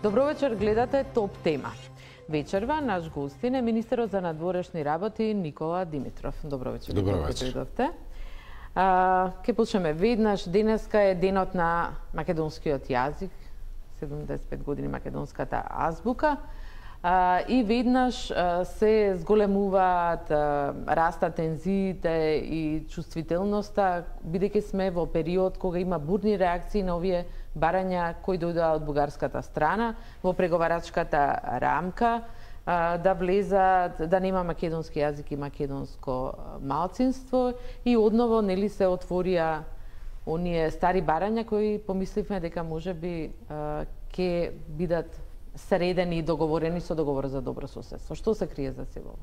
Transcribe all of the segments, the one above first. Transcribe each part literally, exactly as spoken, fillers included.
Добро вечер, гледате Топ тема. Вечерва наш гостин е министерот за надворешни работи Никола Димитров. Добро вечер. Добро вечер. А, ке почнеме веднаш. Денеска е денот на македонскиот јазик, седумдесет и пет години македонската азбука. А, и веднаш а, се зголемуваат, а, растат тензиите и чувствителноста, бидејќи сме во период кога има бурни реакции на овие барања кои дојдоа од бугарската страна во преговарачката рамка, а, да влезат, да нема македонски јазик и македонско малцинство, и одново нели се отворија оние стари барања кои помисливме дека можеби ќе бидат средени и договорени со договор за добро соседство. Што се крие за се во?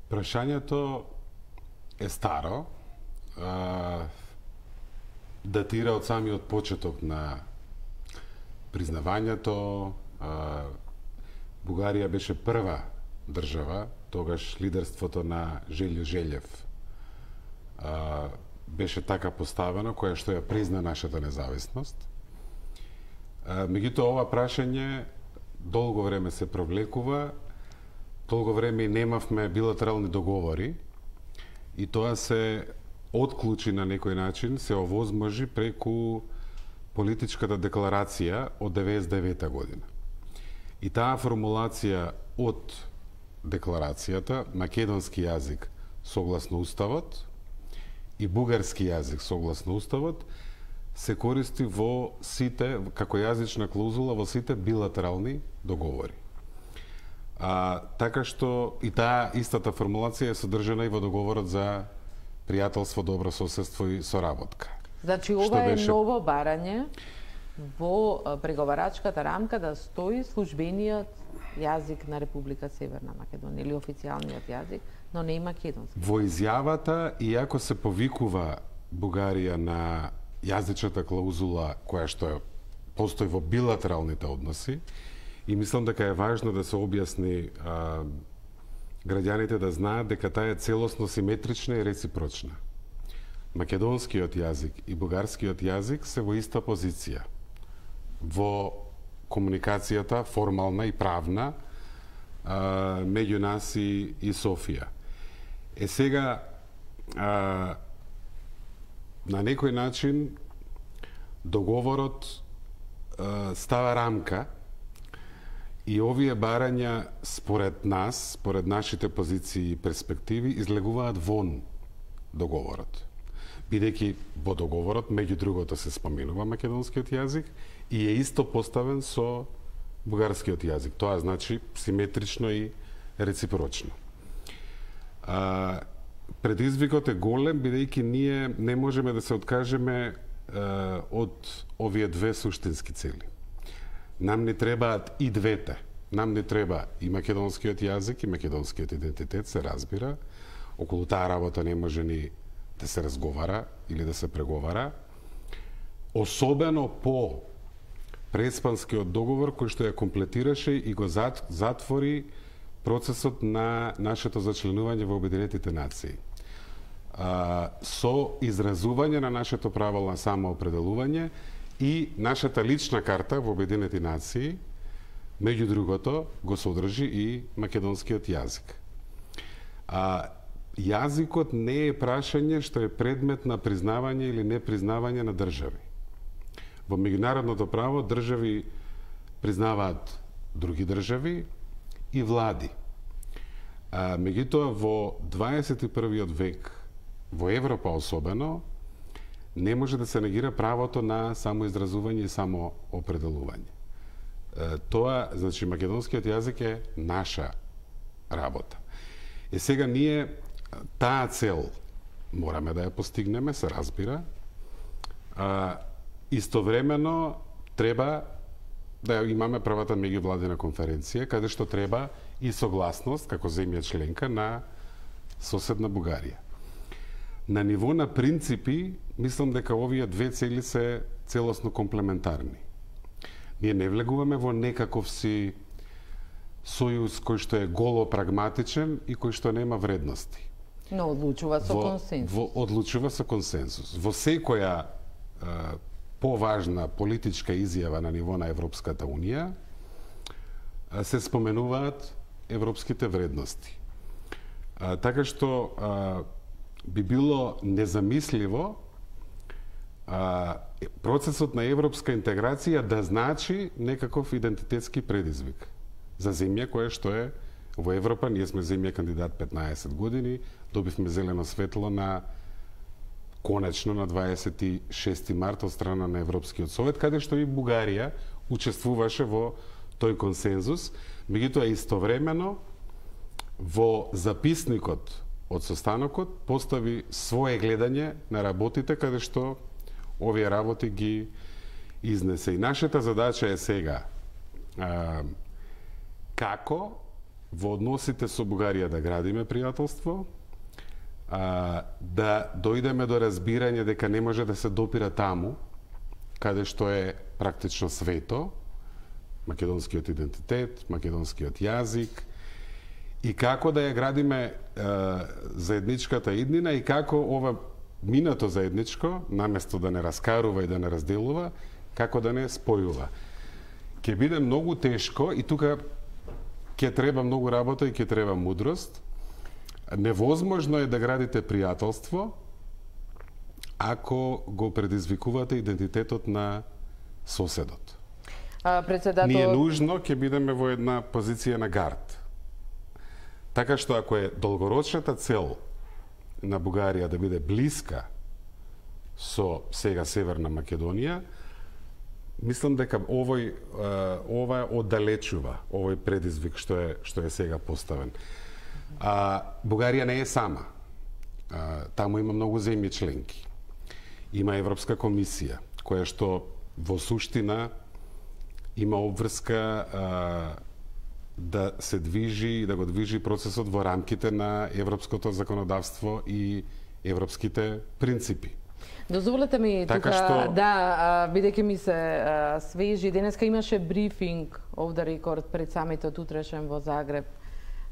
Прашањето е старо, а, датира од самиот почеток на признавањето. А, Бугарија беше прва држава, тогаш лидерството на Желјо Желев а, беше така поставено, која што ја призна нашата независност. Меѓутоа, ова прашање долго време се провлекува, долго време и немавме билатерални договори, и тоа се отклучи на некој начин, се овозможи преку политичката декларација од деветдесет и девета година. И таа формулација од декларацијата, македонски јазик согласно уставот и бугарски јазик согласно уставот, се користи во сите, како јазична клаузула во сите билатерални договори. А, така што и таа истата формулација е содржана и во договорот за пријателство, добро соседство и соработка. Значи, ова е беше... ново барање во преговарачката рамка да стои службениот јазик на Република Северна Македонија или официјалниот јазик, но не и македонски. Во изјавата, иако се повикува Бугарија на јазичната клаузула која што постои во билатералните односи, и мислам дека е важно да се објасни а, граѓаните да знаат дека таа е целосно симетрична и реципрочна. Македонскиот јазик и бугарскиот јазик се во иста позиција во комуникацијата формална и правна а, меѓу нас и, и Софија. Е сега а, на некој начин договорот а, става рамка, и овие барања според нас, според нашите позиции и перспективи, излегуваат вон договорот. Бидејќи во договорот меѓу другото се споменува македонскиот јазик и е исто поставен со бугарскиот јазик. Тоа значи симетрично и реципрочно. А, Предизвикот е голем, бидејќи ние не можеме да се откажеме е, од овие две суштински цели. Нам не требаат и двете. Нам не треба и македонскиот јазик, и македонскиот идентитет, се разбира. Околу таа работа не може ни да се разговара или да се преговара. Особено по преспанскиот договор кој што ја комплетираше и го затвори процесот на нашето зачленување во Обединетите нации. А, со изразување на нашето право на самоопределување и нашата лична карта во Обединети нации, меѓу другото, го содржи и македонскиот јазик. А, јазикот не е прашање што е предмет на признавање или непризнавање на држави. Во меѓународното право држави признаваат други држави и влади. А, меѓутоа, во дваесет и првиот век, во Европа особено, не може да се негира правото на самоизразување и самоопределување. А, тоа, значи, македонскиот јазик е наша работа. И сега ние таа цел мораме да ја постигнеме, се разбира. А, истовремено треба да имаме првата меѓувладина конференција, каде што треба и согласност, како земја членка, на соседна Бугарија. На ниво на принципи, мислам дека овие две цели се целосно комплементарни. Ние не влегуваме во некаков си сојуз кој што е голо прагматичен и кој што нема вредности. Но одлучува со во, консенсус. Во, одлучува со консенсус. Во секоја поважна политичка изјава на ниво на Европската Унија, се споменуваат европските вредности. А, така што а, би било незамисливо а, процесот на европска интеграција да значи некаков идентитетски предизвик за земја која што е во Европа. Ние сме земја кандидат петнаесет години, добивме зелено светло на конечно на дваесет и шести март од страна на Европскиот совет, каде што и Бугарија учествуваше во тој консензус, меѓутоа истовремено во записникот од состанокот постави свое гледање на работите каде што овие работи ги изнесе. И нашата задача е сега а, како во односите со Бугарија да градиме пријателство, а, да дојдеме до разбирање дека не може да се допира таму каде што е практично свето, македонскиот идентитет, македонскиот јазик, и како да ја градиме е, заедничката иднина и како ова минато заедничко, наместо да не раскарува и да не разделува, како да не спојува. Ќе биде многу тешко и тука ќе треба многу работа и ќе треба мудрост. Невозможно е да градите пријателство ако го предизвикувате идентитетот на соседот. Председател... Ние нужно ќе бидеме во една позиција на гард. Така што ако е долгорочната цел на Бугарија да биде блиска со сега Северна Македонија, мислам дека овој ова оддалечува овој предизвик што е што е сега поставен. А Бугарија не е сама. А, таму има многу земји членки. Има Европска комисија која што во суштина има обврска а, да се движи и да го движи процесот во рамките на европското законодавство и европските принципи. Дозволете ми така тука што... да, бидејќи ми се а, свежи, денеска имаше брифинг off the record пред самитот утрешен во Загреб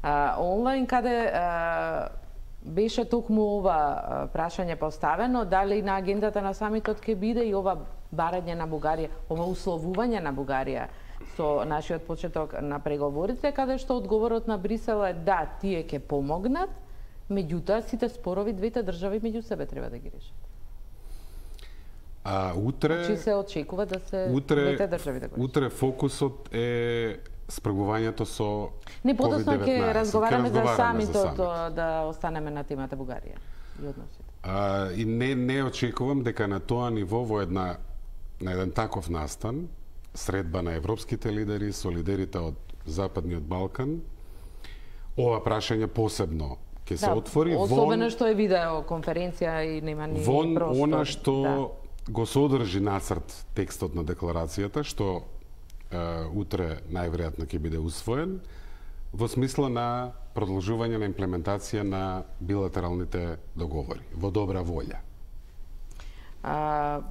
а, онлайн, каде а, беше токму ова а, прашање поставено, дали на агендата на самитот ќе биде и ова барање на Бугарија, ова условување на Бугарија со нашиот почеток на преговорите, каде што одговорот на Брисел е да, тие ќе помогнат, меѓутоа сите спорови двете држави меѓу себе треба да ги решат. А утре Чи се очекува да се утре, двете држави да го решат? Утре фокусот е спрагувањето со Не, подоцна ќе разговараме за самитот, за да останеме на темата Бугарија и односите. А, и не не очекувам дека на тоа ниво во една на еден таков настан, средба на европските лидери со лидерите од Западниот Балкан, ова прашање посебно ќе се да, отвори. Особено вон, што е видеоконференција и нема ни вон простор. Она што да. го содржи нацрт текстот на декларацијата, што е, утре најверојатно ќе биде усвоен, во смисла на продолжување на имплементација на билатералните договори, во добра волја. А,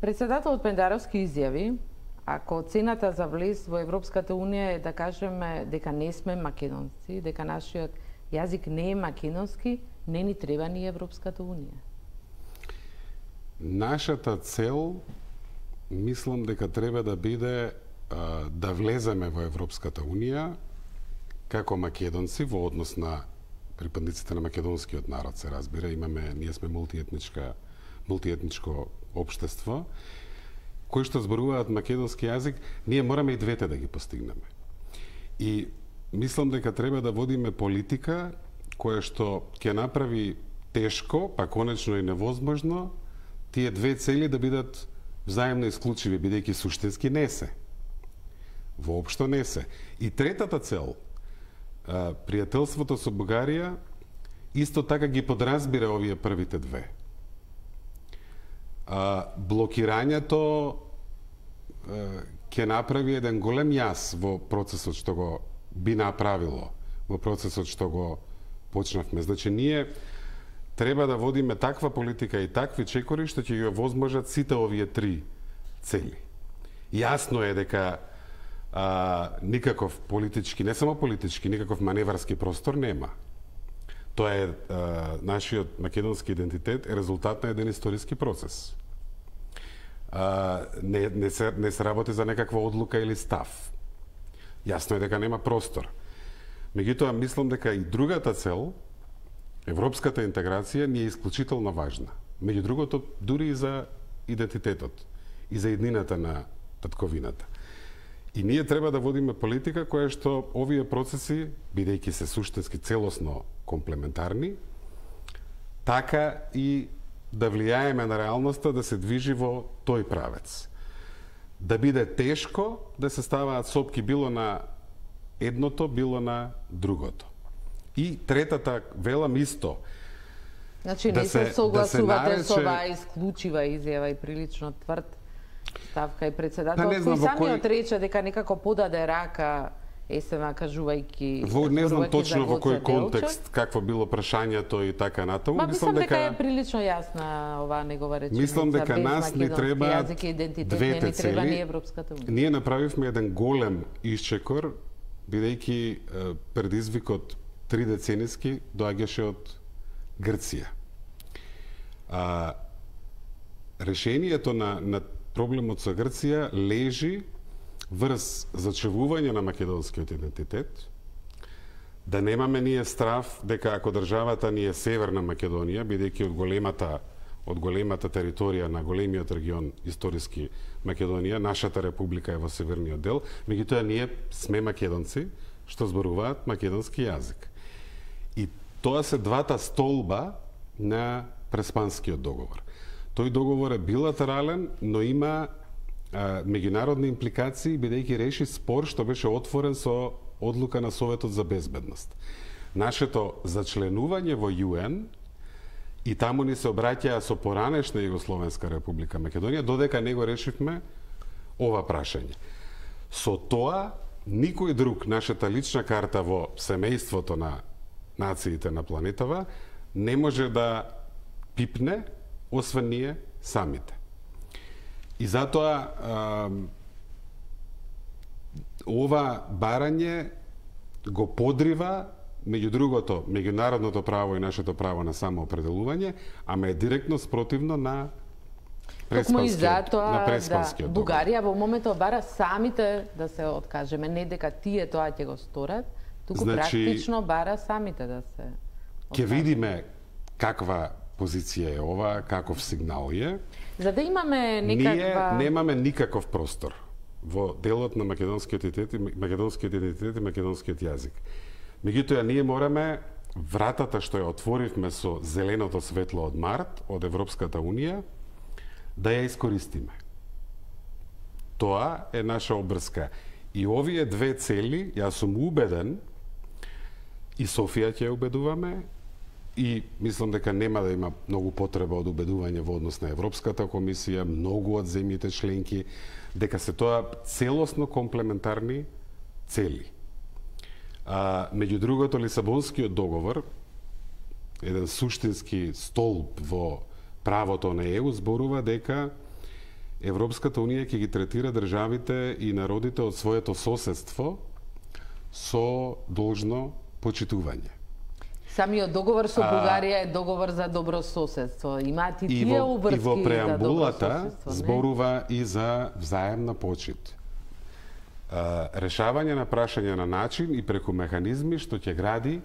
председателот Пендаровски изјави, ако цената за влез во Европската Унија е да кажеме дека не сме македонци, дека нашиот јазик не е македонски, не ни треба ни Европската Унија. Нашата цел, мислам дека треба да биде а, да влеземе во Европската Унија како македонци во однос на припадниците на македонскиот народ, се разбира, имаме, ние сме мултиетничка, мултиетничко општество, кои што зборуваат македонски јазик, ние мораме и двете да ги постигнеме. И мислам дека треба да водиме политика која што ќе направи тешко, па конечно и невозможно, тие две цели да бидат взаимно исклучиви, бидејќи суштински не се. Воопшто не се. И третата цел, пријателството со Бугарија, исто така ги подразбира овие првите две. А, блокирањето ќе направи еден голем јас во процесот што го би направило, во процесот што го почнавме. Значи, ние треба да водиме таква политика и такви чекори што ќе ги овозможат сите овие три цели. Јасно е дека а, никаков политички, не само политички, никаков маневарски простор нема. Тоа е а, нашиот македонски идентитет е резултат на еден историски процес. а, не, не, се, не се работи за некаква одлука или став. Јасно е дека нема простор. Меѓутоа, мислам дека и другата цел, европската интеграција, ни е исклучително важна. Меѓу другото, дури и за идентитетот, и за еднината на татковината. И ние треба да водиме политика која што овие процеси, бидејќи се суштински целосно комплементарни, така и да влијаеме на реалноста да се движи во тој правец. Да биде тешко да се ставаат сопки било на едното, било на другото. И третата, велам исто, значи, не се согласувате да се нарече... со оваа исклучива изјава и прилично тврд ставка и председател, да, кој самиот кој... рече дека некако подаде рака ЕСМ кажувајќи... Во, не знам точно во кој контекст, какво било прашањето и така натаму. Ма мислам дека е прилично јасна оваа негова реченица. Мислам дека нас ни треба двете цели. Не ни Европската унија. Ние направивме еден голем исчекор, бидејќи предизвикот три децениски доаѓаше од Грција. А, решението на, на проблемот со Грција лежи врз зачувување на македонскиот идентитет, да немаме ние страв дека ако државата ни е Северна Македонија, бидејќи од големата од големата територија на големиот регион историски Македонија, нашата република е во северниот дел, меѓутоа ние сме македонци што зборуваат македонски јазик. И тоа се двата столба на Преспанскиот договор. Тој договор е билатерален, но има а, меѓународни импликации, бидејќи реши спор што беше отворен со одлука на Советот за безбедност. Нашето зачленување во ЮН и таму ни се обраќаа со поранешна Југословенска република Македонија, додека не го решивме ова прашање. Со тоа, никој друг, нашата лична карта во семејството на нациите на планетава, не може да пипне, освен ние самите. И затоа а, ова барање го подрива, меѓу другото, меѓународното право и нашето право на самоопределување, ама е директно спротивно на Преспанскиот, на Преспанскиот да, Бугарија во моментот бара самите да се откажеме, не дека тие тоа ќе го сторат, туку значи, практично бара самите да се откажеме. Ќе видиме каква позиција е ова, каков сигнал е. За да имаме некаква... Ние немаме никаков простор во делот на македонскиот идентитет, македонскиот идентитет и македонскиот јазик. Меѓутоа, ние мораме вратата што ја отворивме со зеленото светло од март, од Европската Унија, да ја искористиме. Тоа е наша обрска. И овие две цели, јас сум убеден, и Софија ќе убедуваме, и мислам дека нема да има многу потреба од убедување во однос на Европската комисија, многу од земјите членки, дека се тоа целосно комплементарни цели. А, меѓу другото, Лисабонскиот договор, еден суштински столб во правото на ЕУ, зборува дека Европската Унија ќе ги третира државите и народите од своето соседство со должно почитување. Самиот договор со Бугарија е договор за добро соседство. Имаат и тие обврски за добро соседство. И во преамбулата зборува и за взаемна почит. Решавање на прашање на начин и преку механизми што ќе гради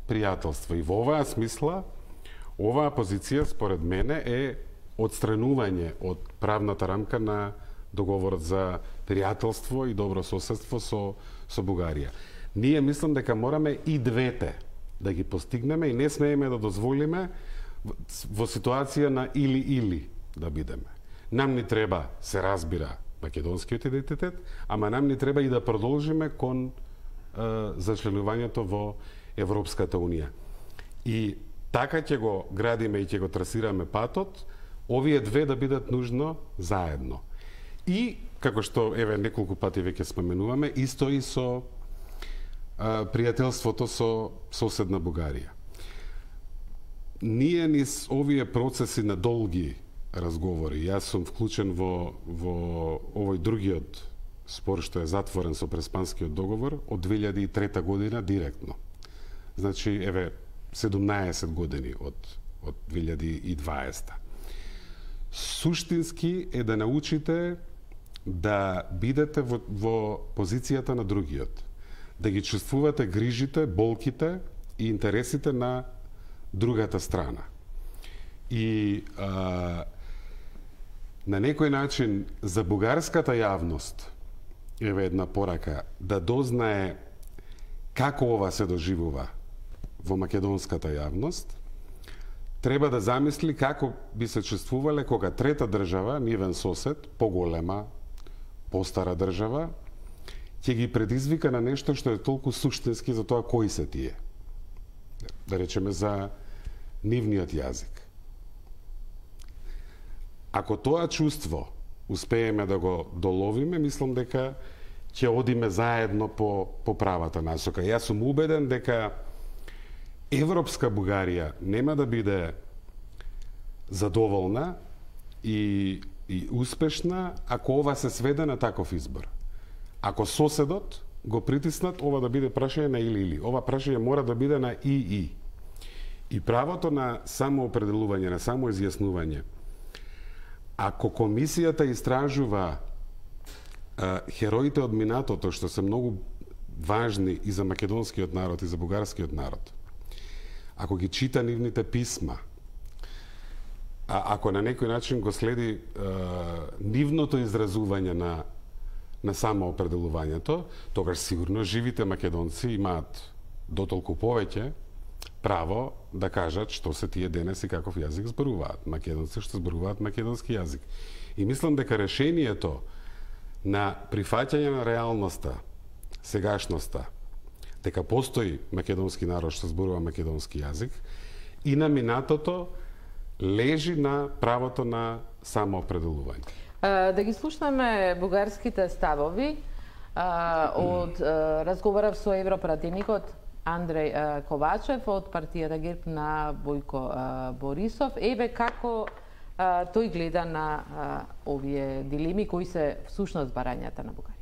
пријателство. И во оваа смисла, оваа позиција, според мене, е отстранување од правната рамка на договорот за пријателство и добро соседство со, со Бугарија. Ние мислам дека мораме и двете да ги постигнеме и не смееме да дозволиме во ситуација на или-или да бидеме. Нам ни треба, се разбира, македонскиот идентитет, ама нам ни треба и да продолжиме кон е, зачленувањето во Европската Унија. И така ќе го градиме и ќе го трасираме патот, овие две да бидат нужно заедно. И, како што, еве, неколку пати веќе споменуваме, исто и со а, пријателството со соседна Бугарија. Ние низ овие процеси на долги разговори, јас сум вклучен во, во овој другиот спор што е затворен со Преспанскиот договор од две илјади и трета година директно. Значи, еве, седумнаесет години од, од две илјади и дваесета. суштински е да научите да бидете во, во позицијата на другиот, да ги чувствувате грижите, болките и интересите на другата страна. И а, на некој начин за бугарската јавност еве една порака да дознае како ова се доживува во македонската јавност, треба да замисли како би се чувствувале кога трета држава, нивен сосед, поголема, постара држава, ќе ги предизвика на нешто што е толку суштински за тоа кои се тие. Да речеме за нивниот јазик. Ако тоа чувство успееме да го доловиме, мислам дека ќе одиме заедно по, по правата насока. Јас сум убеден дека европска Бугарија нема да биде задоволна и, и успешна ако ова се сведе на таков избор. Ако соседот го притиснат, ова да биде прашање на или-или. Ова прашање мора да биде на и-и. И правото на самоопределување, на самоизјаснување, ако комисијата истражува а, хероите од минатото, што се многу важни и за македонскиот народ, и за бугарскиот народ, ако ги чита нивните писма, а ако на некој начин го следи а, нивното изразување на, на самоопределувањето, тогаш сигурно живите македонци имаат дотолку повеќе право да кажат што се тие денес и каков јазик зборуваат. Македонци што зборуваат македонски јазик. И мислам дека решението на прифаќање на реалноста, сегашноста, дека постои македонски народ што зборува македонски јазик, и на минатото лежи на правото на самоопределување. Да ги слушнеме бугарските ставови од разговарав со европративникот Андреј Ковачев од партијата ГЕРБ на Бојко Борисов. Еве како тој гледа на овие дилеми, кои се всушност барањата на Бугарија.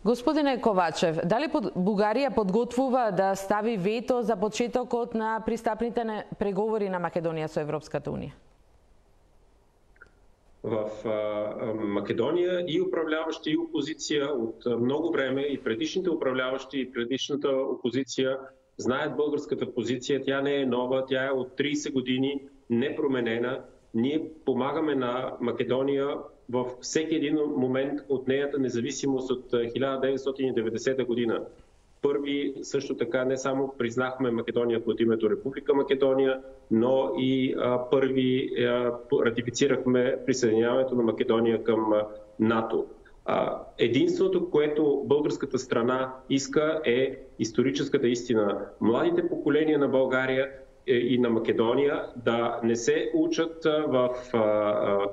Господине Ковачев, дали Бугарија подготвува да стави вето за почетокот на пристапните преговори на Македонија со Европската Унија? В а, Македонија и управляващи и опозиција од многу време, и предишните управляващи и предишната опозиција знаат българската позиција, тя не е нова, тя е од тридесет години непроменена. Ние помагаме на Македонија во всеки един момент од нејата независимост од хиляда деветстотини и деветдесета година. Први също така не само признахме Македонија под името Република Македонија, но и а, први а, ратифицирахме присъединяването на Македонија към а, НАТО. А, единството, което българската страна иска, е историческата истина. Младите поколения на България и на Македонија да не се учат в а,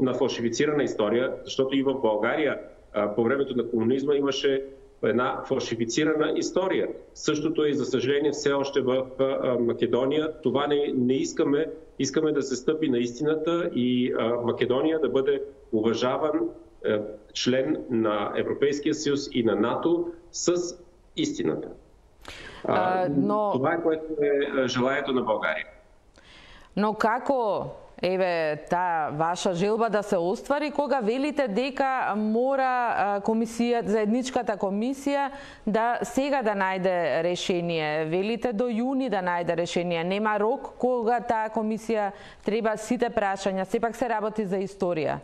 на фалшифицирана история, защото и в България по времето на комунизма имаше една фалшифицирана история. Същото е, за съжаление, все още в Македония. Това не, не искаме. Искаме да се стъпи на истината и Македония да бъде уважаван член на Европейския съюз и на НАТО с истината. А, но... Това е, което е желанието на България. Но како еве таа ваша желба да се оствари кога велите дека мора комисија, заедничката комисија да сега да најде решение? Велите до јуни да најде решение. Нема рок кога таа комисија треба сите прашања, сепак се работи за историја.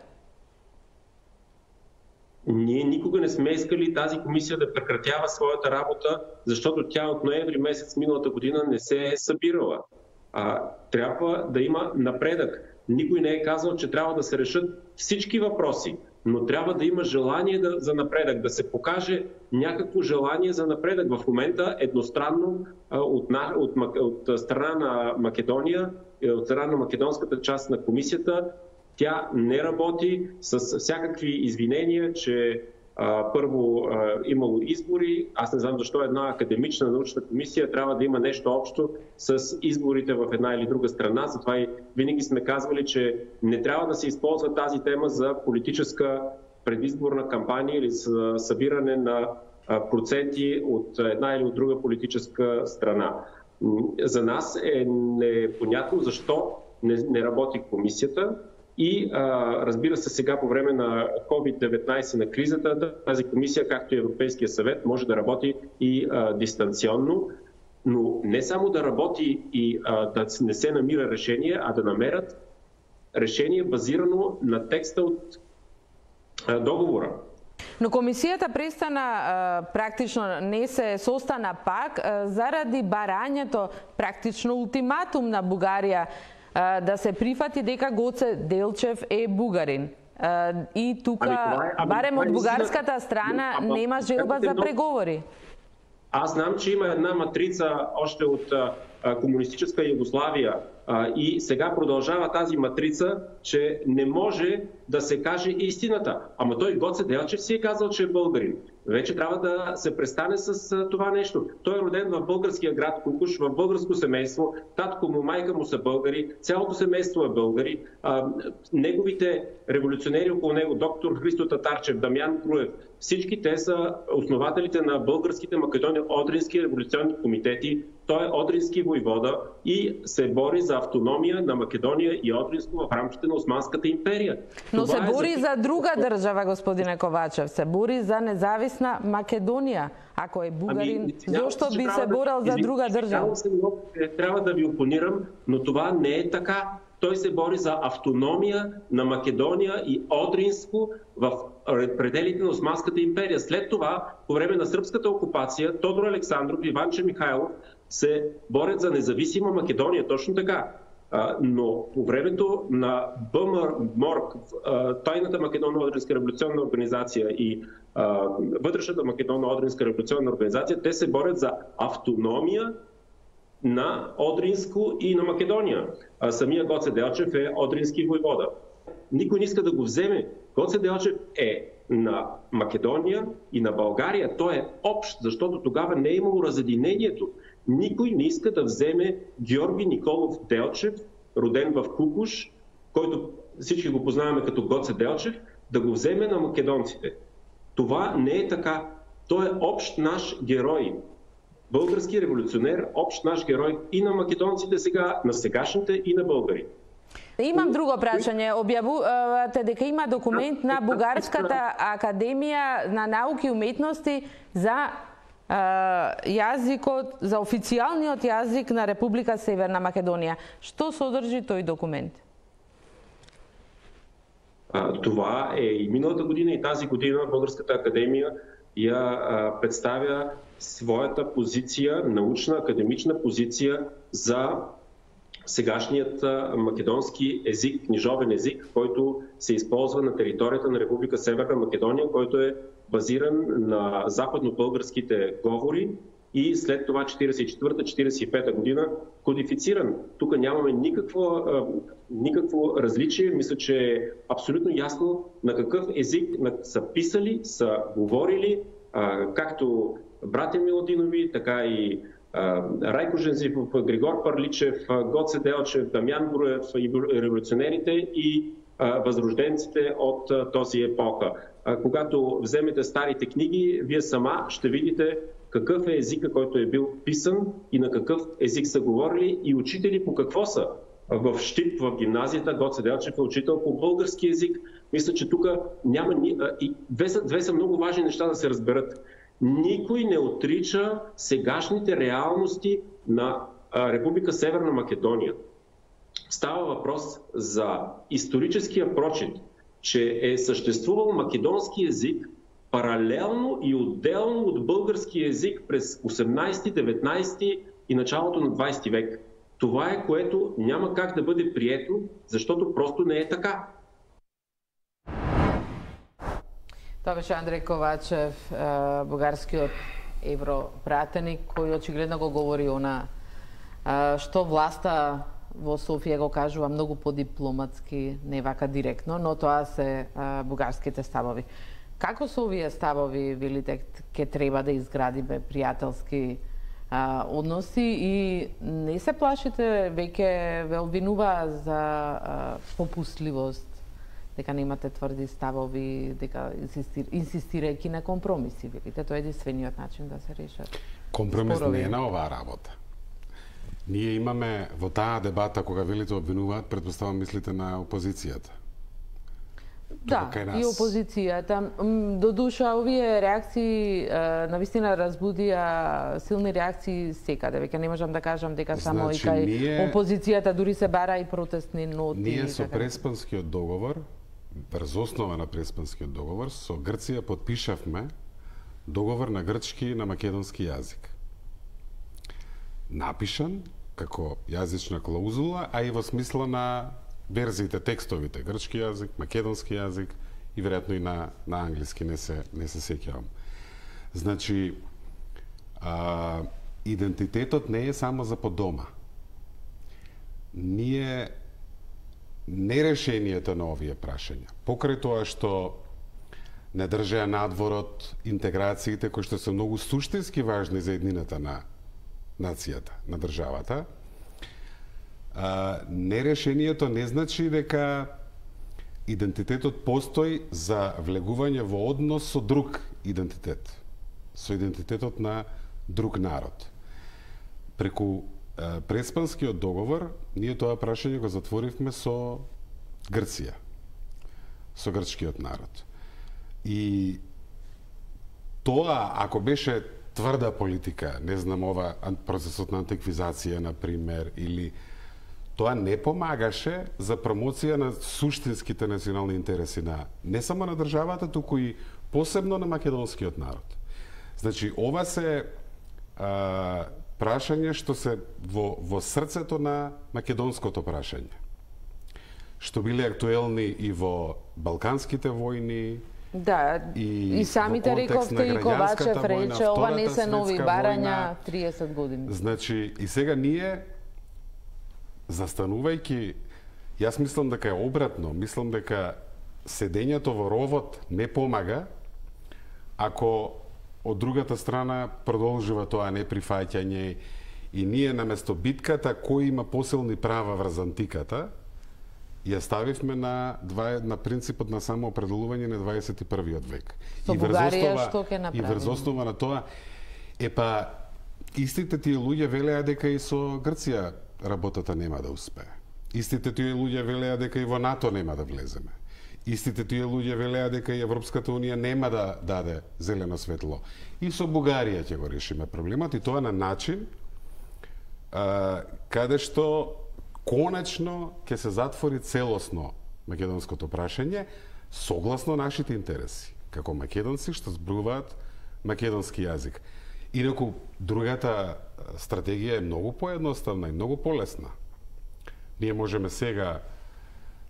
Ние никога не сме искали тази комисия да прекратява своята работа, защото тя от ноември месец миналата година не се е събирала. А, трябва да има напредък. Никой не е казал, че трябва да се решат всички въпроси, но трябва да има желание да, за напредък, да се покаже някакво желание за напредък. В момента едностранно а, от, от, от, от страна на Македония, от страна на македонската част на комисията, тя не работи с всякакви извинения, че Първо, имало избори. Аз не знам защо една академична научна комисия трябва да има нещо общо с изборите в една или друга страна. Затова и винаги сме казвали, че не трябва да се използва тази тема за политическа предизборна кампания или за събиране на проценти от една или от друга политическа страна. За нас е непонятно защо не, не работи комисията и а, разбира се, сега по време на ковид деветнайсет на кризата, тази комисия, както и Европейския съвет, може да работи и а, дистанционно, но не само да работи и а, да не се намира решение, а да намерят решение базирано на текста от а, договора. Но комисијата престана, практично не се состана пак заради барањето, практично ултиматум на Бугарија да се прифати дека Гоце Делчев е бугарин. И тука, барем од бугарската страна, нема желба за преговори. Аз знам, че има една матрица още от комунистическа Югославия и сега продължава тази матрица, че не може да се каже истината. Ама той Гоце Делчев си е казал, че е българин. Вече трябва да се престане с това нещо. Той е роден в българския град Кукуш, в българско семейство. Татко му, майка му са българи, цялото семейство е българи. А, неговите революционери около него, доктор Христо Татарчев, Дамян Груев, всички те са основателите на българските македони Одрински революционни комитети. Той е Одрински войвода и се бори за автономия на Македония и Одринско в рамките на Османската империя. Но Това се бори е за... за друга држава, господине Ковачев. Се бори за независна Македонија. Ако е бугарин, ами, зошто би се борил да... за друга држава? Трябва да ви опонирам, но това не е така. Той се бори за автономия на Македония и Одринско в пределите на Османската империя. След това, по време на сръбската окупация, Тодор Александров и Иванче Михайлов се борят за независима Македония. Точно така. Но по времето на БМОРК, Тайната Македонно-Одринска революционна организация и Вътрешната Македонно-Одринска революционна организация, те се борят за автономия на Одринско и на Македония. А самия Гоце Делчев е Одрински войвода. Никой не иска да го вземе. Гоце Делчев е на Македония и на България. Той е общ, защото тогава не е имало разединението. Никой не иска да вземе Георги Николов Делчев, роден в Кукуш, който всички го познаваме като Гоце Делчев, да го вземе на македонците. Това не е така. Той е общ наш герой. Български революционер, общ наш герой и на македонците сега, на сегашните и на българи. Имам друго прашање. Објавувате дека има документ на Бугарската академија на науки и уметности за јазикот, за официјалниот јазик на Република Северна Македонија. Што содржи тој документ? Това е и миналата година, и тази година Българската академија ја представя своята позиција, научна, академична позиција за сегашният македонски език, книжовен език, който се използва на територията на Република Северна Македония, който е базиран на западно-българските говори и след това четиридесет и четвърта четиридесет и пета година кодифициран. Тук нямаме никакво, никакво различие. Мисля, че е абсолютно ясно на какъв език са писали, са говорили, както братя Милодинови, така и Райко Жензивов, Григор Парличев, Гоце Делчев, Дамян Груев и революционерите и възрожденците от този епоха. Когато вземете старите книги, вие сама ще видите какъв е езика, който е бил писан и на какъв език са говорили и учители по какво са. В Щип, в гимназията, Гоце Делчев е учител по български език. Мисля, че тук няма... И две са, две са много важни неща да се разберат. Никой не отрича сегашните реалности на Република Северна Македония. Става въпрос за историческия прочит, че е съществувал македонски език паралелно и отделно от български език през осемнайсети, деветнайсети и началото на двайсети век. Това е, което няма как да бъде прието, защото просто не е така. Тоа беше Андреј Ковачев, бугарскиот европратеник, кој очигледно го говори она што власта во Софија го кажува многу подипломатски, не вака директно, но тоа се бугарските ставови. Како со овие ставови велите ќе треба да изградиме пријателски а, односи и не се плашите веќе ве обвинува за а, попустливост, дека немате тврди ставови, дека инсистир, инсистирајќи на компромиси, велите тоа е единствениот начин да се решат. Компромис спорови. не е на оваа работа. Ние имаме во таа дебата кога велите обвинуваат, претпоставам мислите на опозицијата. Да, и опозицијата. До душа, овие реакции на вистина разбудија силни реакции секаде. Веќе не можам да кажам дека само значи, и кај ние, опозицијата дури се бара и протестни ноти. Ние со така. Преспанскиот договор, врз основа на Преспанскиот договор, со Грција подпишавме договор на грчки и на македонски јазик. Напишан како јазична клаузула, а и во смисла на верзиите, текстовите, грчки јазик, македонски јазик и веројатно и на, на англиски, не се, не се сеќавам. Значи, а, идентитетот не е само за по дома. Ние не решенијата на овие прашања, покрај тоа што не држеа надворот интеграциите кои што се многу суштински важни за еднината на нацијата, на државата, а, нерешението не значи дека идентитетот постои за влегување во однос со друг идентитет, со идентитетот на друг народ. Преку а, Преспанскиот договор, ние тоа прашање го затворивме со Грција, со грчкиот народ. И тоа, ако беше тврда политика, не знам, ова процесот на антиквизација, например, или тоа не помагаше за промоција на суштинските национални интереси на не само на државата, туку и посебно на македонскиот народ. Значи, ова се а, прашање што се во, во срцето на македонското прашање, што биле актуелни и во Балканските војни. Да, и, и самите рековте и Ковачев рече, ова не се нови барања, триесет години. Значи, и сега ние, застанувајќи, јас мислам дека е обратно, мислам дека седењето во ровот не помага, ако од другата страна продолжува тоа неприфаќање и ние наместо битката кој има посилни права врз антиката, ја ставивме на, два, на принципот на самоопределување на дваесет и првиот век. Со и Бугарија што ќе И направиме? врз основа на тоа, е па, истите тие луѓе велеа дека и со Грција работата нема да успее. Истите тие луѓе велеа дека и во НАТО нема да влеземе. Истите тие луѓе велеа дека и Европската унија нема да даде зелено светло. И со Бугарија ќе го решиме проблемот, и тоа на начин а, каде што конечно ќе се затвори целосно македонското прашање согласно нашите интереси, како македонци што зборуваат македонски јазик. Инаку, другата стратегија е многу поедноставна и многу полесна. Ние можеме сега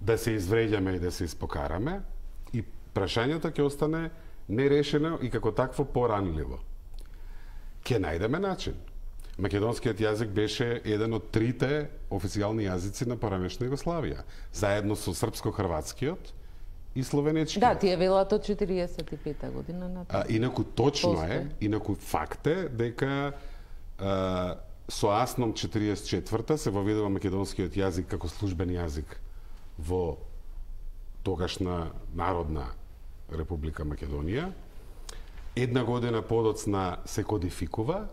да се извреѓаме и да се испокараме и прашањето ќе остане нерешено и како такво поранливо. Ќе најдеме начин. Македонскиот јазик беше еден од трите официјални јазици на поранешна Југославија, заедно со српско-хрватскиот и словенечкиот. Да, тие велат од четириесет и пета година на тоа. А, инаку точно Постои. е, инаку факт е дека а, со АСНОМ четириесет и четврта се воведува македонскиот јазик како службен јазик во тогашна Народна Република Македонија. Една година подоцна се кодификува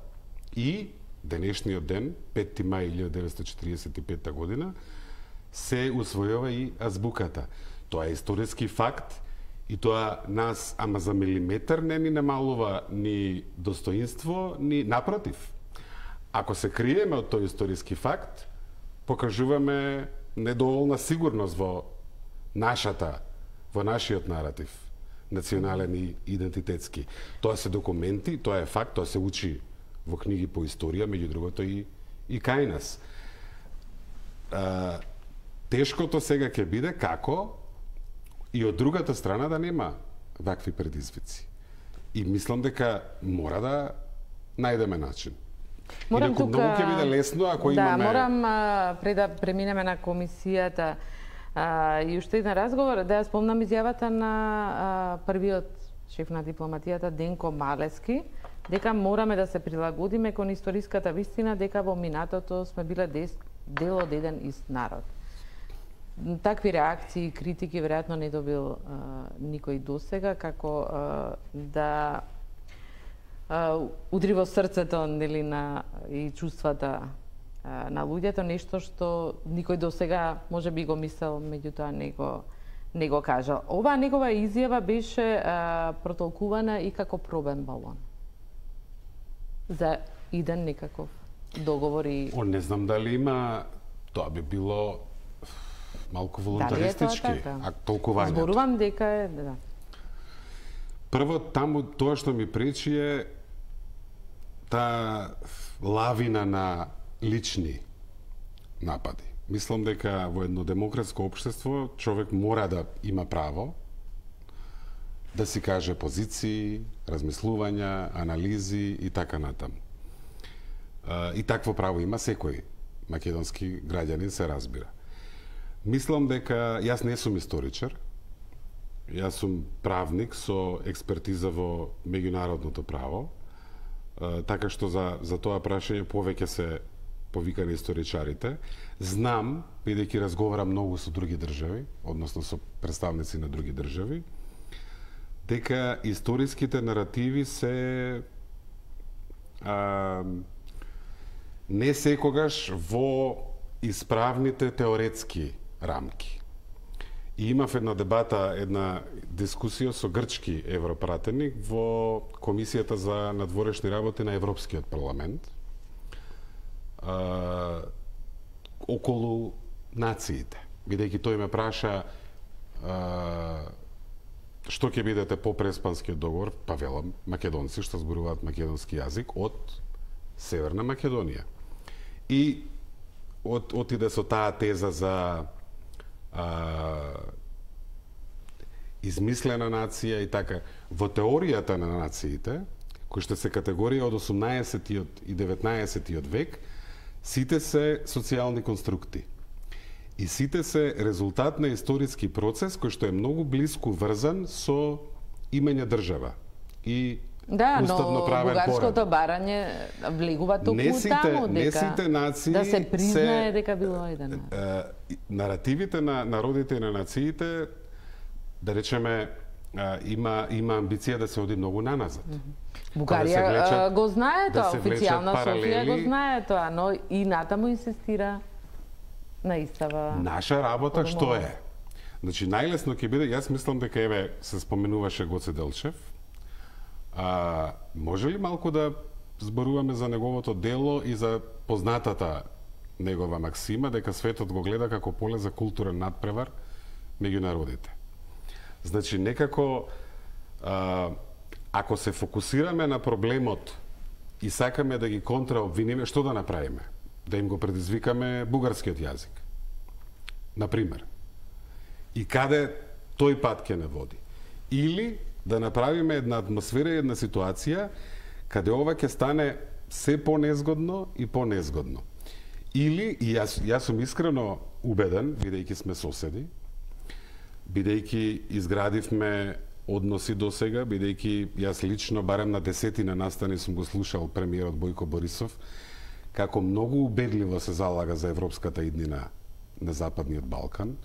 и денешниот ден, петти мај илјадесетстотини деветстотини четириесет и пета година, се усвојува и азбуката. Тоа е историски факт и тоа нас, ама за милиметар, не ни намалува ни достоинство, ни напротив. Ако се криеме од тој историски факт, покажуваме недоволна сигурност во нашата, во нашиот наратив, национален и идентитетски. Тоа се документи, тоа е факт, тоа се учи во книги по историја, меѓу другото и, и кај нас. А, тешкото сега ќе биде како и од другата страна да нема вакви предизвици. И мислам дека мора да најдеме начин. Морам Инаку тука... многу ќе биде лесно ако да, имаме... Да, морам а, пред да преминеме на комисијата а, и уште еден разговор, да ја спомнам изјавата на а, првиот шеф на дипломатијата Денко Малески, дека мораме да се прилагодиме кон историската вистина дека во минатото сме биле дел од еден ист народ. Такви реакции и критики веројатно не добил а, никој досега, како а, да а, удри во срцето, нели, на и чувствата а, на луѓето, нешто што никој досега можеби го мислел, меѓутоа не го не го кажал. Оваа негова изјава беше а, протолкувана и како пробен балон за иден некаков договор и... О, не знам дали има... Тоа би било малку волунтаристички, така? а толкувањето. Зборувам дека е... Да. Прво, таму тоа што ми пречи е таа лавина на лични напади. Мислам дека во едно демократско општество човек мора да има право да си каже позиции, размислувања, анализи и така натаму. И такво право има секој македонски граѓанин, се разбира. Мислам дека јас не сум историчар, јас сум правник со експертиза во меѓународното право, така што за, за тоа прашање повеќе се повикани историчарите. Знам, бидејќи разговарам многу со други држави, односно со представници на други држави, дека историските наративи се а, не секогаш во исправните теоретски рамки. И имав една дебата, една дискусија со грчки европратеник во Комисијата за надворешни работи на Европскиот парламент а, околу нациите. Бидејќи тој ме праша а, што ќе бидете по преспанскиот договор, па велам македонци што зборуваат македонски јазик од Северна Македонија. И от, отиде со таа теза за а, измислена нација и така. Во теоријата на нациите, кои што се категорија од осумнаесеттиот и деветнаесеттиот век, сите се социјални конструкти. И сите се резултат на историски процес кој што е многу блиску врзан со имање држава и да, уставно но правен бугарското поредок. барање влегува токму Не сите, таму, дека не сите нации да се признае се, дека било еден народ. е, наративите на народите и на нациите, да речеме, е, има има амбиција да се оди многу наназад. Бугарија да влечат, го знае тоа, да се официјална Софија го паралели. знае тоа, но и натаму инсистира на истава. Наша работа Подумала. што е? Значи, најлесно ќе биде, јас мислам дека еве се споменуваше Гоце Делчев. А, може ли малку да зборуваме за неговото дело и за познатата негова максима дека светот го гледа како поле за културен надпревар меѓу народите? Значи, некако а, ако се фокусираме на проблемот и сакаме да ги контраобвиниме, што да направиме? Да им го предизвикаме бугарскиот јазик. Например. И каде тој пат ќе не води? Или да направиме една атмосфера и една ситуација каде ова ќе стане се понезгодно и понезгодно. Или, и јас, јас сум искрено убеден, бидејќи сме соседи, бидејќи изградивме односи до сега, бидејќи јас лично, барем на десетина настани сум го слушал премиерот Бојко Борисов, како многу убедливо се залага за европската иднина на Западниот Балкан,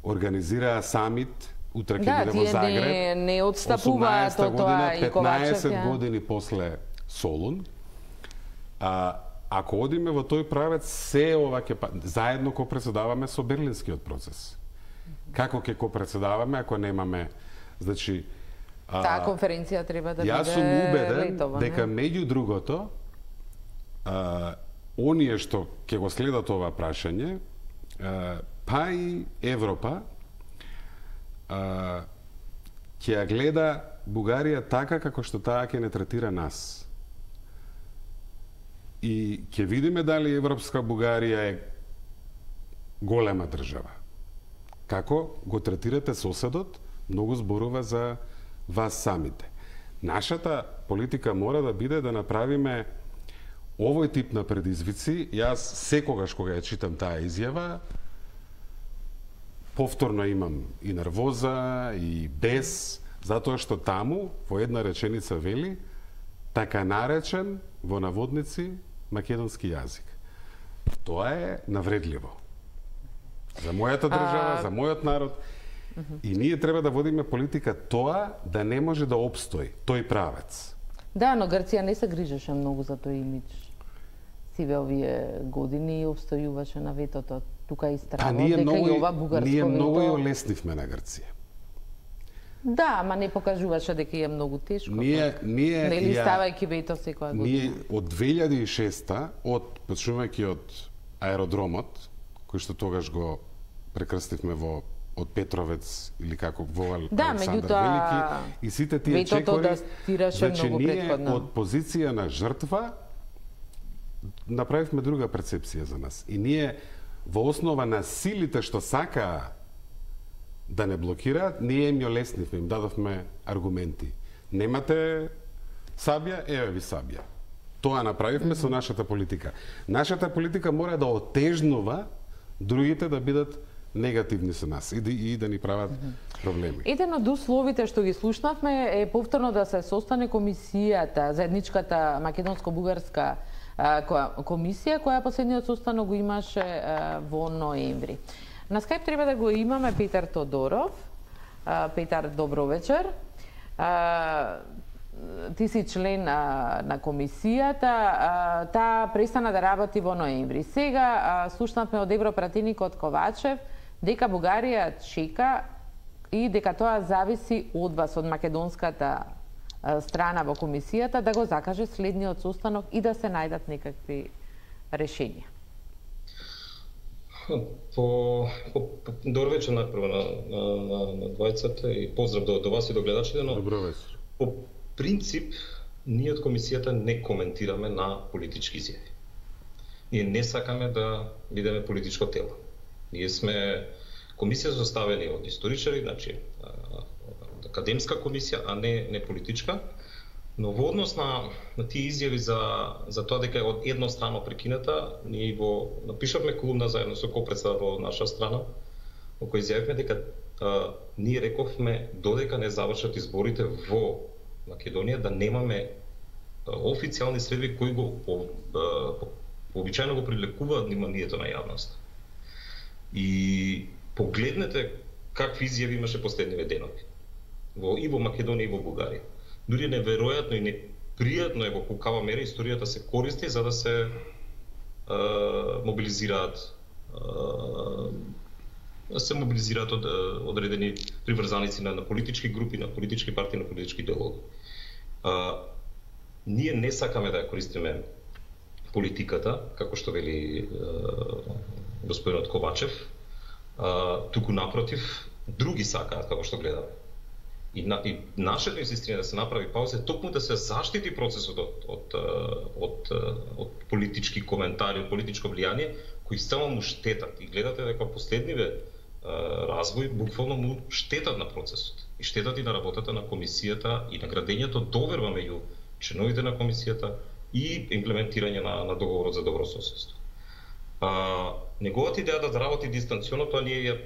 организираа самит утре ќе Да, биде во тие Загреб. не, не отстапуваат од тоа и Ковачев. петнаесет ја. години после Солун. А, ако одиме во тој правец, се ова ќе па- заедно ко председаваме со Берлинскиот процес. Како ќе ко председаваме ако немаме, значи, а, Таа конференција треба да јас биде сум убеден летова, дека не? меѓу другото, а, оние што ќе го следат ова прашање, а, па и Европа, а, ќе ја гледа Бугарија така како што таа ќе не третира нас. И ќе видиме дали Европска Бугарија е голема држава. Како го третирате соседот, многу зборува за вас самите. Нашата политика мора да биде да направиме овој тип на предизвици. Јас секогаш кога ја читам таа изјава, повторно имам и нервоза, и бес, Затоа што таму во една реченица вели така наречен во наводници македонски јазик. Тоа е навредливо. За мојата држава, а... за мојот народ. Uh-huh. И ние треба да водиме политика тоа да не може да обстои тој правец. Да, но Грција не се грижеше многу за тој имидж. Сиве овие години обстојуваше на ветото. Тука истраво, дека многу, и ова бугарско ние вето... многу ја леснивме на Грција. Да, ама не покажуваше дека е многу тешко. Ние, ние нели ја, ставајќи вето секоја година. Ние од две илјади и шеста, од почнувајќи од аеродромот, кој што тогаш го прекрстивме во од Петровец или како во да, Александар Велики, и сите тие чекори, да значи ние предходно. Од позиција на жртва направивме друга перцепција за нас. И ние во основа на силите што сакаа да не блокираат, ние им ја леснивме, им дадовме аргументи. Немате сабја, еве ви сабја. Тоа направивме mm-hmm. со нашата политика. Нашата политика мора да отежнува другите да бидат негативни со нас и да, и да ни прават mm-hmm. проблеми. Еден од условите што ги слушнавме е повторно да се состане комисијата, заедничката македонско-бугарска комисија, која последниот состанок го имаше во ноември. На скајп треба да го имаме Петар Тодоров. Петар, добро вечер. Ти си член на комисијата. Таа престана да работи во ноември. Сега слушнавме од европратеникот Ковачев дека Бугарија чека и дека тоа зависи од вас, од македонската страна во комисијата, да го закаже следниот состанок и да се најдат некакви решенија. По, по, по добро вечер најпрво на, на, на, на двајцата и поздрав до, до вас и до гледачите, но добро вечер. По принцип ние од комисијата не коментираме на политички изјави. Ние не сакаме да бидеме политичко тело. Ние сме комисија составени од историчари, значи академска комисија, а не не политичка. Но во однос на, на тие изјави за, за тоа дека е од еднострано прекината, ние го напишавме колумна заедно со копредседател во наша страна, во кој изјавивме дека а, ние рековме додека не завршат изборите во Македонија да немаме а, официјални средби кои го по, а, по, пообичајно го привлекуваат вниманието на јавност. И погледнете какви изјави имаше последниве денови во и во Македонија и во Бугарија. Дури неверојатно и непријатно е во колкава мера историјата се користи за да се е, мобилизираат е, се мобилизираат од, одредени приврзаници на, на политички групи, на политички партии, на политички делови. Е, ние не сакаме да ја користиме политиката, како што вели е, господинот Ковачев, е, туку напротив, други сакаат, како што гледаме. И, на, и нашето инсистирање да се направи пауза е токму да се заштити процесот од, од, од, од политички коментари, од политичко влијание, кои само му штетат. И гледате дека последниве развој буквално му штетат на процесот. И штетат и на работата на комисијата и на градењето доверба меѓу членовите на комисијата и имплементирање на, на договорот за добро соседство. А, неговата идеја да работи дистанционно, тоа ние ја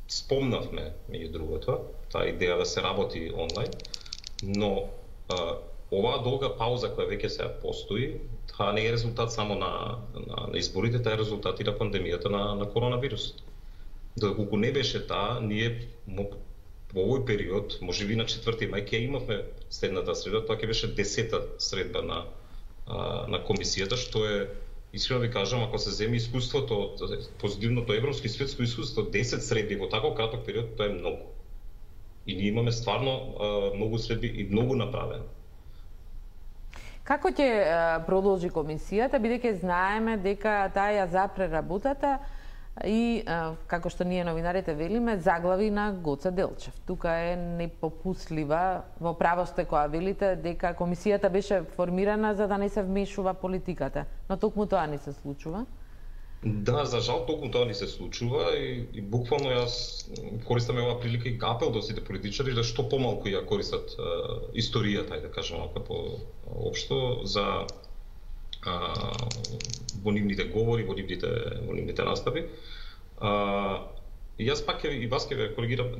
спомнавме, меѓу другото, таа идеја да се работи онлайн, но а, оваа долга пауза која веќе сега постои, таа не е резултат само на, на, на изборите, таа е резултат и на пандемијата на, на коронавирусот. Доколку не беше таа, ние во овој период, можеби на четврти мај, ќе имавме следната средба, тоа ќе беше десета средба на, а, на комисијата, што е, искрено ви кажам, ако се земе искуството, позитивното европско и светско искуство, десет средби во таков краток период, тоа е многу. И ние имаме стварно а, многу средби и многу направено. Како ќе продолжи комисијата, бидејќи знаеме дека таа ја запре работата и, како што ние новинарите велиме, заглави на Гоце Делчев. Тука е непопуслива, во право сте која велите дека комисијата беше формирана за да не се вмешува политиката, но токму тоа не се случува. Да, за жал токму тоа не се случува и, и буквално јас користам оваа прилика и апел до сите политичари да што помалку ја користат е, историјата, да кажам како општо за а, во нивните говори, во нивните, во нивните настави. А, и јас пак и вас ќе ве коригирам,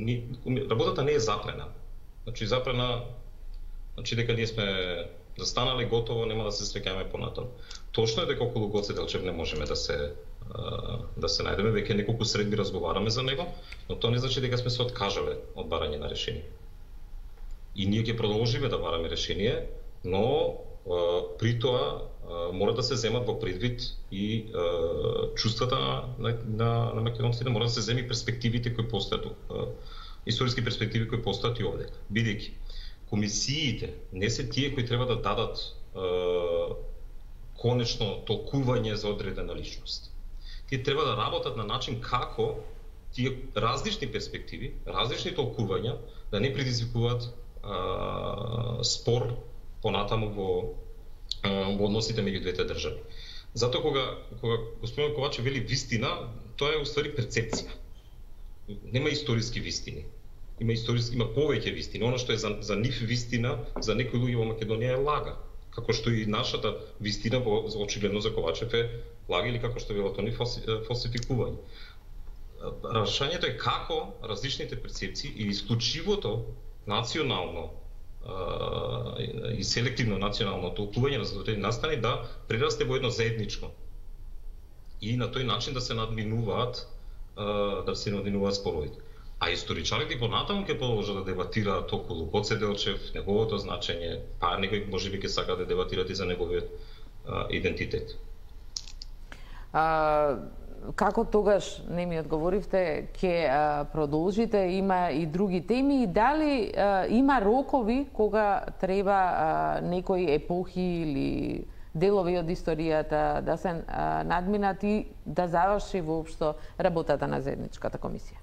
работата не е запрена. Значи запрена, значи дека ние сме застанали готово, нема да се среќаме понатаму. Точно е дека околу Гоце Делчев не можеме да се да се најдеме, веќе неколку средби разговараме за него, но тоа не значи дека сме се откажале од барање на решение. И ние ќе продолжиме да бараме решение, но при тоа мора да се земат во предвид и чувствата на, на, на македонците, мора да се земи перспективите кои постојат, историски перспективи кои постојат и овде. Бидејќи комисиите не се тие кои треба да дадат е, конечно толкување за одредена личност. Тие треба да работат на начин како тие различни перспективи, различни толкувања да не предизвикуваат е, спор понатаму во, е, во односите меѓу двете држави. Затоа кога кога господин Ковачев вели вистина, тоа е уствари перцепција. Нема историски вистини. Има историски, има повеќе вистини. Оно што е за, за нив вистина, за некои луѓе во Македонија е лага. Како што и нашата вистина во очигледно за Ковачев е лага или како што велат они фалсификување. Рашањето е како различните перцепции и исклучивото национално и селективно национално толкување на задоволени настани да прерасте во едно заедничко. И на тој начин да се надминуваат да се надминуваат споровите. А историчарите понатаму ќе продолжат да дебатираат околу Гоце Делчев, неговото значење, па некои можеби ќе сакаат да дебатираат и за неговиот а, идентитет. А, како тогаш, не ми одговоривте, ќе продолжите, има и други теми, и дали а, има рокови кога треба а, некои епохи или делови од историјата да се а, надминат и да заврши воопшто работата на заедничката комисија?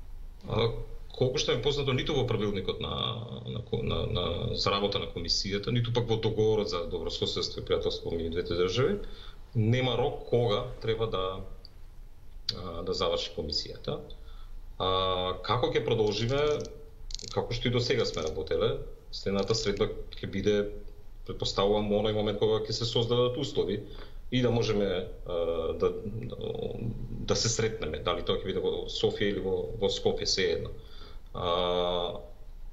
А, колку што е познато, ниту во правилникот на, на, на, на, за работа на комисијата, ниту пак во договорот за добрососедство и пријателство меѓу двете држави, нема рок кога треба да да заврши комисијата. А, како ќе продолжиме, како што и до сега сме работеле, следната средба ќе биде, предпоставувам, оној момент кога ќе се создадат услови и да можеме а, да, да се сретнеме, дали тоа ќе биде во Софија или во, во Скопје, се едно. А,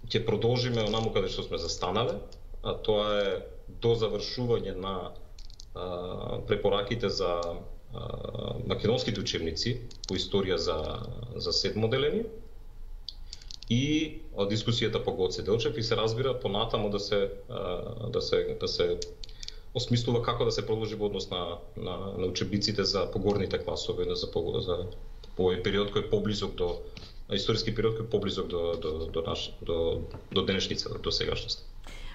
ќе продолжиме онаму каде што сме застанале, а тоа е до завршување на а, препораките за а, македонските учебници по историја за, за седмо деление и од дискусијата по Гоце Делчев и се разбира понатаму да се а, да се да се осмислува како да се продолжи во однос на на, на учебниците за погорните класови, за за овој период кој е поблизок до историски период кој е поблизок до до до наш до до денешницата, до сегашноста.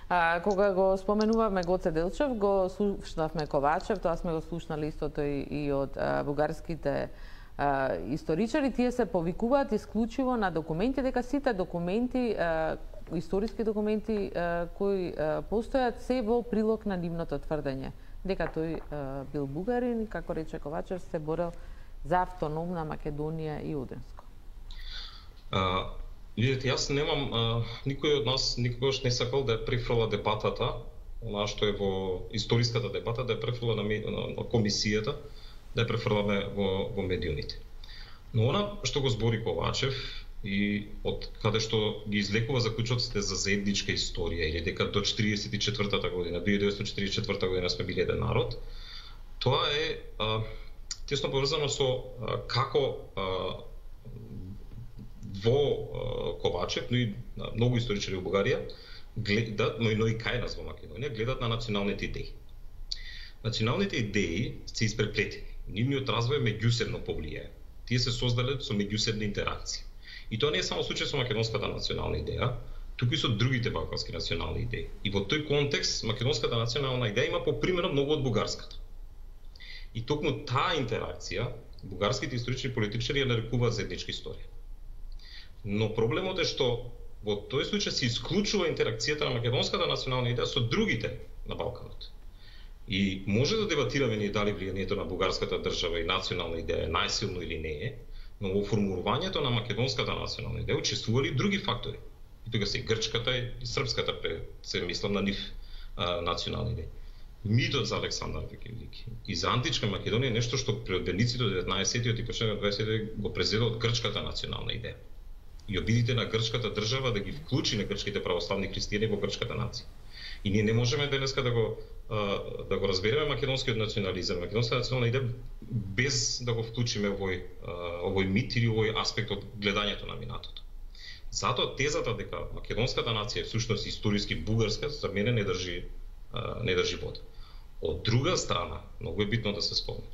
А, кога го споменувавме Гоце Делчев, го слушнавме Ковачев, тоа сме го слушнали истото и, и од а, бугарските а, историчари, тие се повикуваат исклучиво на документи, дека сите документи, а, историски документи а, кои а, постојат се во прилог на нивното тврдење, дека тој а, бил бугарин и, како рече Ковачев, се борел за автономна Македонија и Удринско. Uh... Видете, јас немам, а, никој од нас никогаш не сакал да ја префрла дебатата, она што е во историската дебата, да ја префрла на, на, на комисијата, да ја префрламе во, во медиумите. Но она што го збори Ковачев и од каде што ги излекува заклучоците за заедничка историја или дека до четириесет и четвртата година, две илјади деветстотини четириесет и четврта година сме били еден народ, тоа е а, тесно поврзано со а, како а, во Ковачев, но и многу историчари во Бугарија гледат, но и, но и кај нас во Македонија, гледат на националните идеи. Националните идеи се испреплетени. Нивниот развој меѓусебно повлијае. Тие се создале со меѓусебна интеракција. И тоа не е само случај со македонската национална идеја, туку и со другите балкански национални идеи. И во тој контекст македонската национална идеја има попримено многу од бугарската. И токму таа интеракција бугарските историчари и политичари ја нарекуваат заедничка историја. Но проблемот е што во тој случај се исклучува интеракцијата на македонската национална идеја со другите на Балканот. И може да дебатираме ние дали влијанието на бугарската држава и национална идеја е најсилно или не е, но во формулувањето на македонската национална идеја учествували други фактори. И тука се и грчката и српската, се мислам на нив а, национални идеи. Митот за Александар Велики и за античка Македонија е нешто што при одбениците од деветнаесеттиот и почетокот на дваесеттиот го презеде од грчката национална идеја. и обидите на грчката држава да ги вклучи на грчките православни христијани во грчката нација. И ние не можеме денеска да го да го разбереме македонскиот национализам, македонската национална идеја без да го вклучиме овој овој мит или овој аспект од гледањето на минатото. Затоа тезата дека македонската нација е всушност историски бугарска за мене не држи не држи вода. Од друга страна, многу е битно да се спомне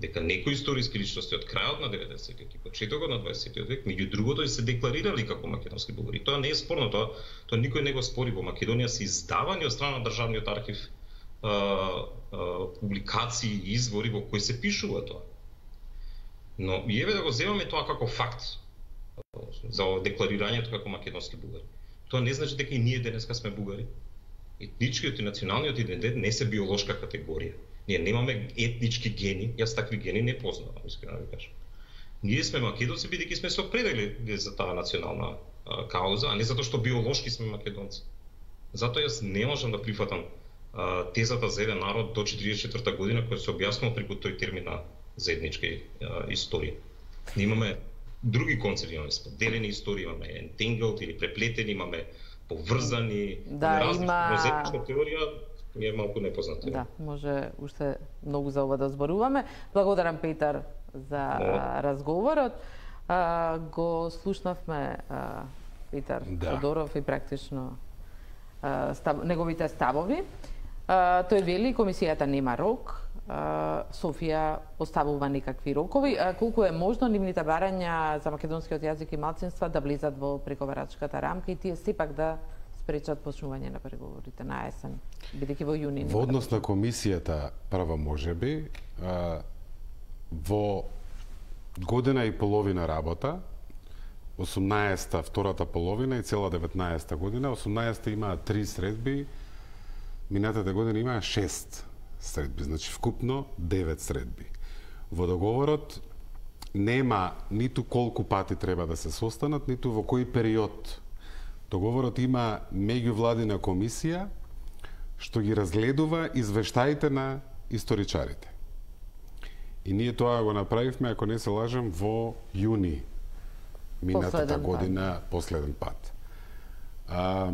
дека некои историски личности од крајот на деветдесеттите и почетокот на дваесеттиот век, меѓу другото, се декларирали како македонски бугари. Тоа не е спорно, тоа, тоа никој не го спори. Во Македонија се издавани од страна на државниот архив а, а, публикации и извори во кои се пишува тоа. Но и еве да го земаме тоа како факт за декларирањето како македонски бугари. Тоа не значи дека и ние денеска сме бугари. Етничкиот и националниот идентитет не се биолошка категорија. Ние немаме етнички гени, јас такви гени не познавам, искрено да ви кажам. Ние сме македонци бидејќи сме се определили за таа национална а, кауза, а не затоа што биолошки сме македонци. Затоа јас не можам да прифатам а, тезата за еден народ до четиридесет и четврта година која се објаснува преку тој термин на заедничка а, историја. Ние имаме други концепти, имаме споделени истории, имаме entangled или преплетени, имаме поврзани, да, различни, има... но заедничка теорија ми е малку непозната. Да, може уште многу за ова да зборуваме. Благодарам, Петар, за а, разговорот. А, го слушнавме а, Петар да. Тодоров и практично а, став, неговите ставови. А, тој вели, комисијата нема рок, а, Софија поставува некакви рокови. А, колку е можно нивните барања за македонскиот јазик и малцинства да влизат во преговарачката рамка и тие сепак да спречат почнување на преговорите на есен, бидејќи во јуни. Во однос на комисијата права можеби, а, во година и половина работа, осумнаесета втората половина и цела деветнаесета година, осумнаесета имаа три средби, минатата година имаа шест средби, значи вкупно девет средби. Во договорот нема ниту колку пати треба да се состанат, ниту во кој период. Договорот има меѓувладина комисија што ги разгледува извештаите на историчарите. И ние тоа го направивме, ако не се лажам, во јуни минатата Последен година, пат. последен пат. А,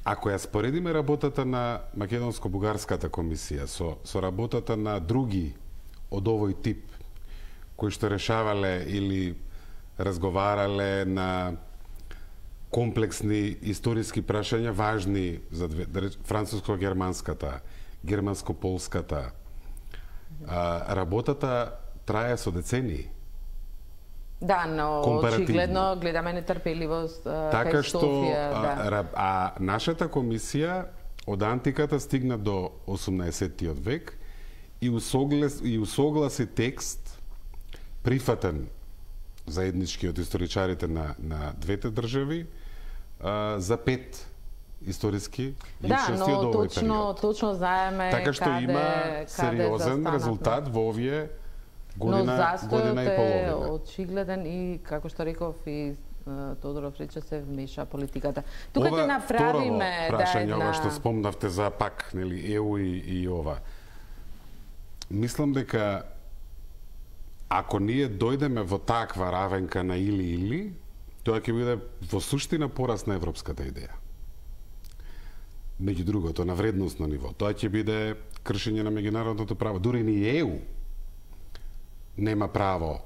ако ја споредиме работата на Македонско-бугарската комисија со, со работата на други од овој тип, кои што решавале или разговарале на комплексни историски прашања важни за две, француско-германската, германско-полската. А, работата трае со децении. Да, но очигледно гледаме нетрпеливост така кај што, Софија, а, да. а нашата комисија од антиката стигна до осумнаесеттиот век и усогласи, и усогласи текст прифатен заеднички од историчарите на, на двете држави а, за пет историски личности да, од овој точно, период. точно знаеме така што каде, има сериозен каде резултат во овие година, но година и половина. Но застојот е очигледен и, како што реков и Тодоров рече, се вмеша политиката. Тука ќе направиме да прашање, една... ова што спомнавте за пак, нели, Е У и, и ова. Мислам дека ако ние дојдеме во таква равенка на или-или, тоа ќе биде во суштина пораз на европската идеја. Меѓу другото, на вредностно ниво. Тоа ќе биде кршење на меѓународното право. Дури ни Е У нема право.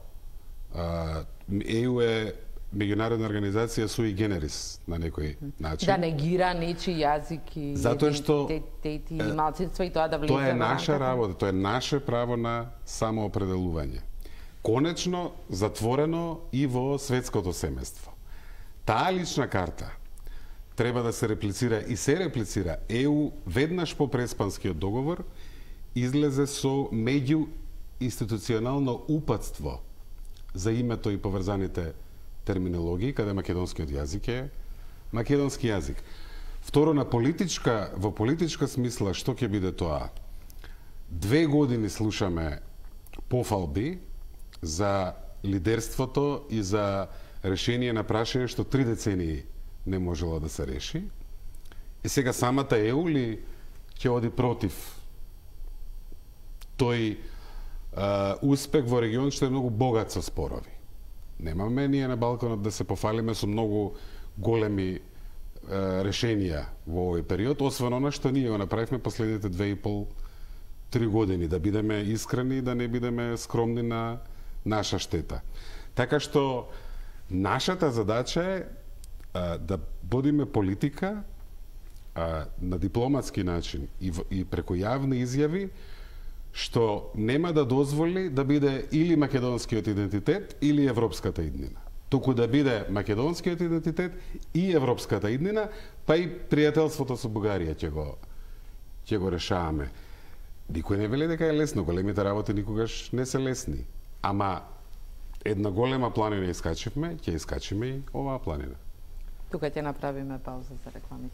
Е У е меѓународна организација sui generis на некој начин. Да негира нечи јазик и затоа што идентитети и малцинства и тоа да влезе. Тоа е наша работа, тоа е наше право на самоопределување. Конечно затворено и во светското семејство. Таа лична карта треба да се реплицира и се реплицира. Е У веднаш по Преспанскиот договор излезе со меѓу институционално упатство за името и поврзаните терминологии, каде македонскиот јазик е македонски јазик. Второ, на политичка, во политичка смисла, што ќе биде тоа? Две години слушаме пофалби за лидерството и за решение на прашање што три децении не можела да се реши. И сега самата Е У ли ќе оди против тој а, успех во регион што е многу богат со спорови. Немаме ние на Балканот да се пофалиме со многу големи е, решенија во овој период, освен она што ние го направивме последните две и пол три години, да бидеме искрени и да не бидеме скромни на наша штета. Така што нашата задача е а, да водиме политика а, на дипломатски начин и, в, и преку јавни изјави што нема да дозволи да биде или македонскиот идентитет или европската иднина. Туку да биде македонскиот идентитет и европската иднина, па и пријателството со Бугарија ќе го ќе го решаваме. Никој не вели дека е лесно, големите работи никогаш не се лесни. Ама една голема планина искачивме, ќе искачиме и оваа планина. Тука ќе направиме пауза за реклами.